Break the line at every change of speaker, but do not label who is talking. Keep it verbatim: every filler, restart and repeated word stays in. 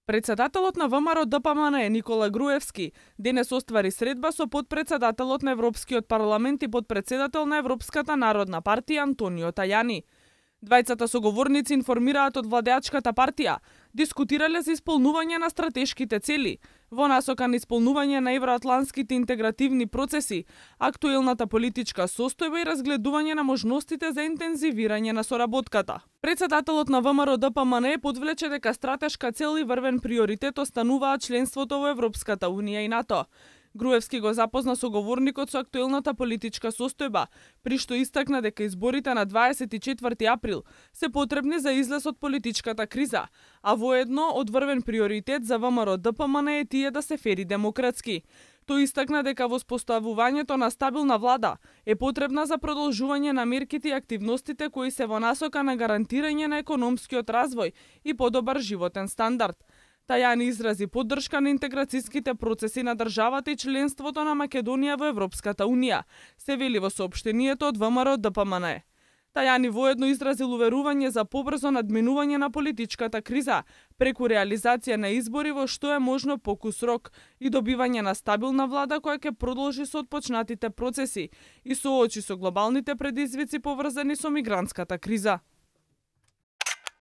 Председателот на ВМРО-ДПМН Никола Груевски денес оствари средба со потпредседателот на Европскиот парламент и потпредседател на Европската народна партија Антонио Тајани. Двајцата соговорници информираат од владеачката партија, дискутирале за исполнување на стратешките цели, во насока на исполнување на евроатлантските интегративни процеси, актуелната политичка состојба и разгледување на можностите за интензивирање на соработката. Председателот на ВМРО-ДПМН подвлече дека стратешка цел и врвен приоритет остануваат членството во Европската унија и НАТО. Груевски го запозна соговорникот со актуелната политичка состојба, при што истакна дека изборите на дваесет и четврти април се потребни за излез од политичката криза, а воедно од врвен приоритет за ВМРО-ДПМН е тие да се фери демократски. Тој истакна дека воспоставувањето на стабилна влада е потребна за продолжување на мерките и активностите кои се во насока на гарантирање на економскиот развој и подобар животен стандард. Тајани изрази поддршка на интеграцијските процеси на државата и членството на Македонија во Европската унија, се вели во соопштението од ВМРО-ДПМН. Тајани воедно изразил уверување за побрзо надминување на политичката криза преку реализација на избори во што е можно покус рок и добивање на стабилна влада која ќе продолжи со отпочнатите процеси и соочи со глобалните предизвици поврзани со мигрантската криза.